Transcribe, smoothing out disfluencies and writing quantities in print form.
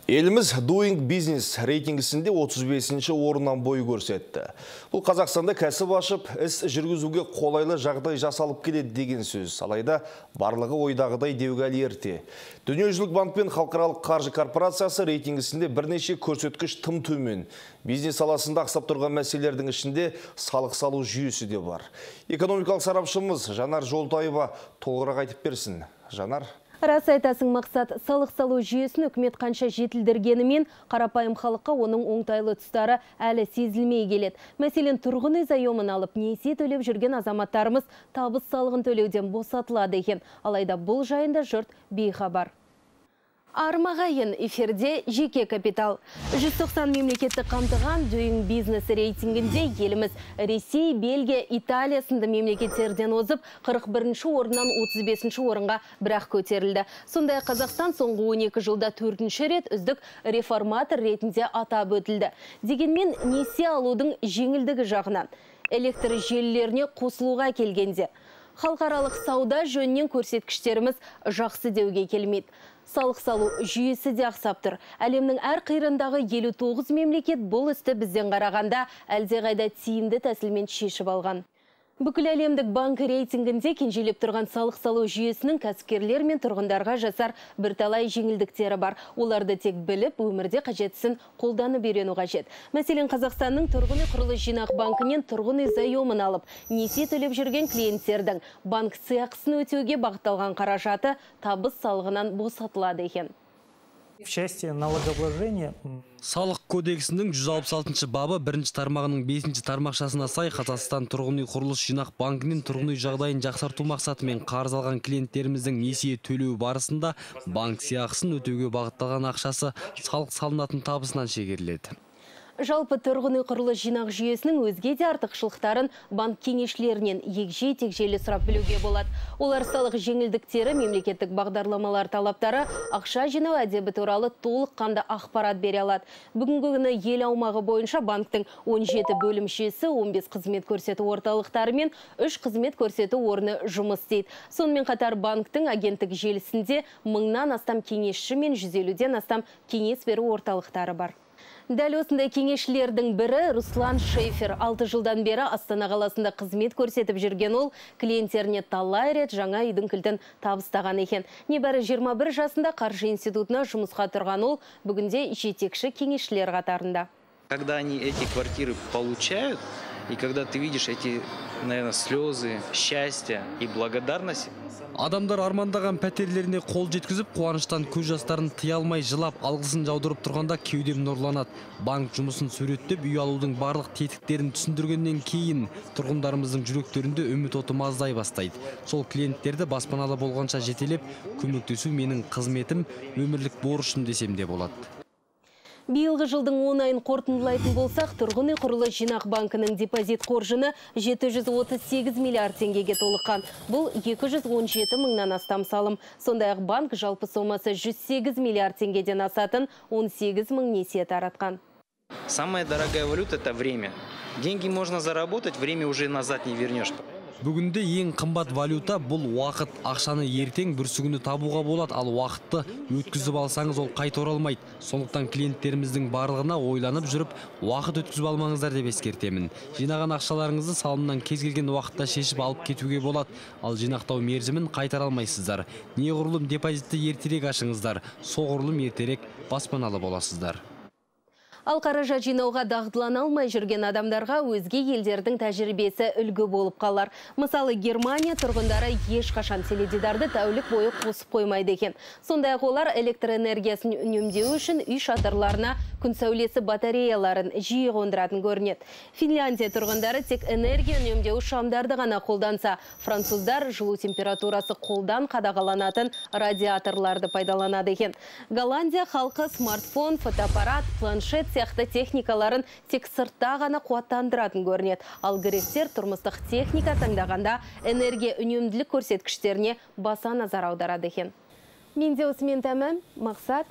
Еліміз Doing Business рейтингісінде 35-ші орыннан бой көрсетті. Бұл Қазақстанда кәсіп ашып, іс жүргізуге қолайлы жағдай жасалып келеді деген сөз. Алайда барлығы ойдағыдай деуге әлі ерте. Дүниежүзілік банк пен халықаралық қаржы корпорациясы рейтингісінде бірнеше көрсеткіш тым төмен. Бизнес саласында ақсап тұрған мәселелердің ішінде салық салу жүйесі де бар. Экономикалық сарапшымыз Жанар Жолтаева толығырақ айтып берсін. Жанар. Рас айтасың, мақсат, салық салу жүйесін үкімет қанша жетілдіргенімен, қарапайым халыққа оның оңтайлы тұстары әлі сезілмей келеді. Мәселен, тұрғын үй заемын алып, несие төлеп жүрген азаматтарымыз табыс салығын төлеуден босатылады екен. Алайда бұл жайында жұрт бейхабар. Армағайын, эфирде жеке капитал. 190 мемлекетті қамтыған Doing Business рейтингінде еліміз Ресей, Бельгия, Италия сынды мемлекеттерден озып, 41-ші орыннан 35-ші орынға бірақ көтерілді. Сондай Қазақстан соңғы 12 жылда 4-ші рет үздік реформатор ретінде атап өтілді. Дегенмен несие алудың жеңілдігі жағынан электр желілеріне қосылуға келгенде халықаралық сауда жөнінен көрсеткіштеріміз жақсы деуге келмейді. Салық салу жүйесі де ақсап тұр. Әлемнің әр қиырындағы 59 мемлекет бұл істі бізден қарағанда әлдеқайда тиімді тәсілмен шешіп алған. Бүкіл әлемдік банк рейтингінде кенжелеп тұрған салық салу жүйесінің кәсіпкерлер мен тұрғындарға жасар бірталай жеңілдіктері бар. Оларды тек біліп, өмірде қажеттісін қолданып үйрену қажет. Мәселен, Қазақстанның тұрғын үй құрылыс жинақ банкінен тұрғын үй заемын алып, несие төлеп жүрген клиенттердің банк сыйақысын өтеуге бағытталған қаражаты табыс салығынан босатылады екен. В части налогообложения Салық кодексінің 166 бабы 1-ші тармағының 5-ші тармақшасына сай Қазақстан тұрғын үй құрылыс жинақ банкінен тұрғын үй жағдайын жақсарту мақсатымен қарыз алған клиенттеріміздің несие төлеу барысында банк сыйақысын өтеуге бағытталған ақшасы салық салынатын табысынан шегеріледі. Жалпы тұрғын үй құрылыс жинақ жүйесінің өзге де артықшылықтарын банк кеңесшілерінен егжей-тегжейлі сұрап білуге болады. Олар салық жеңілдіктері, мемлекеттік бағдарламалар талаптары, ақша жинау әдебі туралы толыққанды ақпарат бере алады. Бүгінгі күні ел аумағы бойынша банктың 17 бөлімшесі, 15 қызмет көрсету орталықтары мен 3 қызмет көрсету орны жұмыс істейді. Сонымен қатар банктың агенттік желісінде 1000-нан астам кеңесші мен 150-ден астам кеңес беру орталықтары бар. Дәл осындай кеңесшілердің бірі Руслан Шейфер. 6 жылдан бері Астана қаласында қызмет көрсетіп жүрген ол, клиенттеріне талай рет жаңа үйдің кілтін табыстаған екен. Небәрі 21 жасында қаржы институтына жұмысқа тұрған ол, бүгінде жетекші кеңесшілер қатарында. Когда они эти квартиры получают, и когда ты видишь эти, наверное, слезы, счастья и благодарность. Адамдар армандаған пәтерлеріне қол жеткізіп, қуаныштан көз жастарын тыя алмай жылап, алғысын жаудырып тұрғанда кеудем нұрланады. Банк жұмысын суреттеп, үй алудың барлық тетіктерін түсіндіргеннен кейін тұрғындарымыздың жүректерінде үміт оты маздай бастайды. Сол клиенттерді баспаналы болғанша жетелеп, көмектесу менің қызметім, өмірлік борышым десем де болады. Биылғы жылдың 10 айын қорытындылайтын болсақ, тұрғын үй құрылыс жинақ банкінің депозит қоржыны 738 миллиард теңгеге толыққан. Бұл 217 мыңнан астам салым. Сондай-ақ банк жалпы сомасы 108 миллиард теңгеден асатын 18 мың несие таратқан. Самая дорогая валюта – это время. Деньги можно заработать, время уже назад не вернешь. Бүгінде ең қымбат валюта бұл уақыт. Ақшаны ертең бүрсігіні табуға болады, ал уақытты өткізіп алсаңыз ол қайта оралмайды. Сондықтан клиенттеріміздің барлығына ойланып жүріп, уақыт өткізіп алмаңыздар деп ескертемін. Жинаған ақшаларыңызды салымнан кез келген уақытта шешіп алып кетуге болады, ал жинақтау мерзімін қайтара алмайсыздар. Неғұрлым депозитті ертерек ашыңыздар, соғұрлым ертерек баспаналы боласыздар. Ал қаражат жинауға дағдылана алмай жүрген адамдарға өзге елдердің тәжірибесі үлгі болып қалар. Мысалы, Германия тұрғындары ешқашан теледидарды тәулік бойы қосып қоймайды екен. Сондай-ақ олар электр энергиясын үнемдеу үшін үй шатырларына күн сәулесі батареяларын жиі қондыратын көрінеді. Финляндия тұрғындары тек энергия үнемдеу шамдарды ғана қолданса, француздар жылу температурасы қолдан қадағаланатын радиаторларды пайдаланады екен. Голландия халқы смартфон, фотоаппарат, планшет сияқты техникаларын тек сыртта ғана қуаттандыратын көрінеді. Ал гректер тұрмыстық техника таңдағанда энергия үнемділік көрсеткіштеріне баса назар аударады екен. Менде осымен тәмам, мақсат.